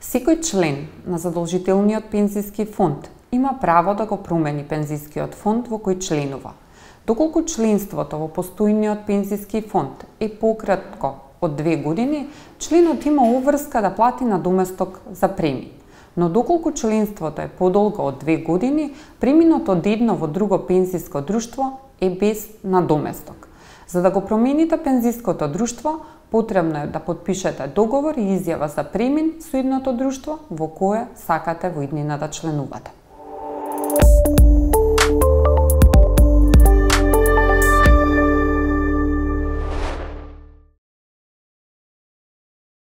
Секој член на задолжителниот пензиски фонд има право да го промени пензискиот фонд во кој членува. Доколку членството во постојниот пензиски фонд е пократко од 2 години, членот има обврска да плати надоместок за премин. Но доколку членството е подолго од 2 години, преминот од едно во друго пензиско друштво е без надоместок. За да го промените пензиското друштво, потребно е да потпишете договор и изјава за премин со едното друштво во кое сакате во иднина да членувате.